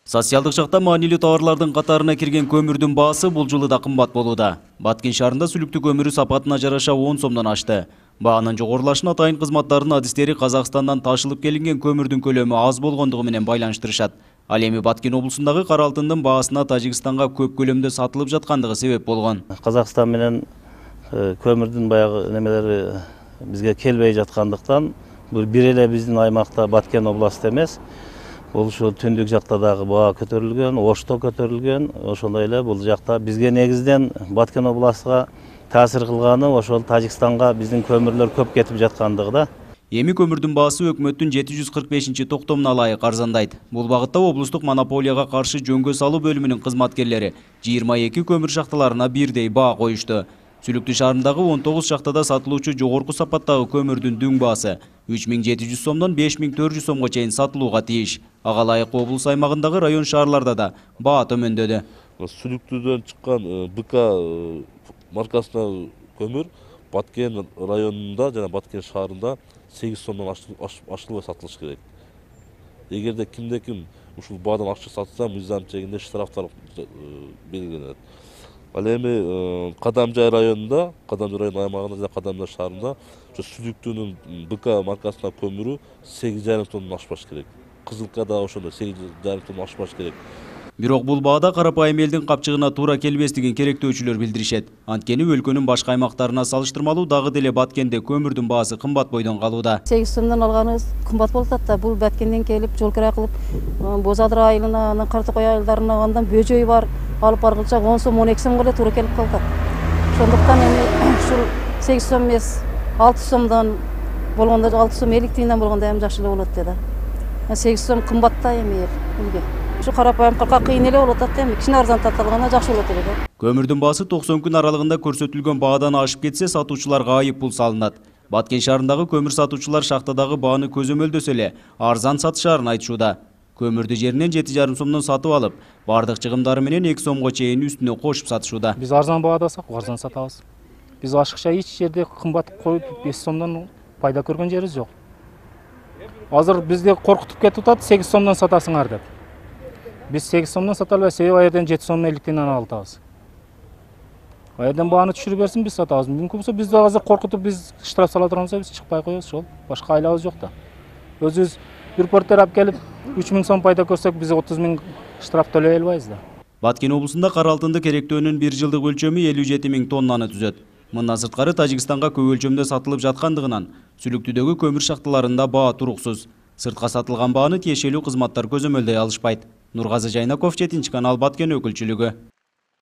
Социалдык жакта маанилүү товарлардын катарына кирген көмүрдүн баасы бул жылы да кымбат болууда. Баткен шаарында сүлүктүү көмүрү сапатына жараша 10 сомдон ашты. Баанын жогорулашына атайын кызматтардын адистери Казакстандан ташылып келинген көмүрдүн көлөмү аз болгондугу менен байланыштырышат. Ал эми Баткен облусундагы кара алтындын баасына Тажикстанга көп көлөмдө сатылып жаткандыгы себеп болгон. Казакстан менен көмүрдүн баягы немелери бизге келбей жаткандыктан бул бир эле биздин аймакта Баткен областы эмес, бул ушул түндүк жакта дагы баа көтөрүлгөн, Ошто көтөрүлгөн. Ошондой эле бул жакта бизге негизден Баткен областыга таасир кылганы ошол Тажикстанга биздин көмүрлөр көп кетип жаткандыгы да. Эми көмүрдүн баасы өкмөттүн 745-токтомуна ылайык арзандайт. Бул багытта облустук монополияга каршы жөнгө салуу бөлүмүнүн кызматкерлери 22 көмүр шахталарына бирдей баа коюшту. Сүлүктүү шаарындагы 19 шахтада сатылуучу жогорку сапаттагы көмүрдүн дүң баасы 3700 сомдон 5400 сомго чейин сатылууга тийиш. Ага ылайык облус аймагындагы район шаарларда да баа төмөндөдү. Сүлүктүүдөн чыккан БК маркасындагы көмүр Баткен районунда жана Баткен шаарында 8 сомдон ашылбай сатылыш керек. Эгерде кимде-ким ушул баадан ашык сатса, мыйзам чегинде штрафтар белгиленет. Ал эми Кадамжай районунда, Кадамжай район аймагында жана Кадамжай шаарында сүлүктүүнүн БК маркасындагы көмүрү 8,5 тоннон ашпаш керек. Кызылка да ошондой 8,5 тонн ашпаш керек. Бирок бул баада карапайым элдин капчыгына туура келбестигин керектөөчүлөр билдиришет. Анткени өлкөнүн башка аймактарына салыштырмалуу дагы деле Баткенде көмүрдүн баасы кымбат бойдон калууда. 8 сомдон алганыбыз кымбат болуп атат да. Бул Баткенден келип, жол кира кылып, Бозадыр айылына, анан Картыкой айылдарына алгандан бөжөй бар, алып баргылча 10 сом, 12 сомго эле туура келип калат. Ошондуктан эми ушул 8 сом эмес, 6 сомдон болгондо, 6 сом 50 тыйындан болгондо эми жакшы эле болот да. 8 сом кымбат да эми элге. Ушу карапайым кырка кыйын эле болуп атат эми. Кичине арзан тартылганда жакшы болот эле да. Көмүрдүн баасы 90 күн аралыгында көрсөтүлгөн баадан ашып кетсе, сатуучуларга айып пул салынат. Баткен шаарындагы көмүр сатуучулар шахтадагы бааны көзөмөлдөсө эле арзан сатышаарын айтышууда. Көмүрдү жеринен 7,5 сомдон сатып алып, бардык чыгымдары менен 2 сомго чейин үстүнө кошуп сатышууда. Биз арзан баадасак, арзан сатабыз. Биз ашыкча эч жерде кымбат коюп 5 сомдон пайда көргөн жерибиз жок. Азыр бизди коркутуп кетип атат, 8 сомдон сатасыңар деп. Биз 8 сомдон сата албайбыз, себеби ал жерден 7 сом 50 тыйындан алып атабыз. Ал жерден бааны түшүрүп берсин, биз сатабыз. Мүмкүн болсо бизди азыр коркутуп биз штраф сала турган болсо биз чыкпай коебуз ошол. Башка айлабыз жок да. Өзүбүз репортер алып келип 3000 сом пайда көрсөк, биз 30 000 штраф төлөй албайбыз да. Баткен облусунда кара алтынды керектөөнүн 1 жылдык өлчөмү 57 000 тоннаны түзөт. Мындан сырткары Тажикстанга көп өлчөмдө сатылып жаткандыгынан сүлүктүүдөгү көмүр шахталарында баа туруксуз. Сыртка сатылган бааны тиешелүү кызматтар көзөмөлдөй алышпайт. Нургазы Жайнаков, 7 канал, Баткен өкүлчүлүгү.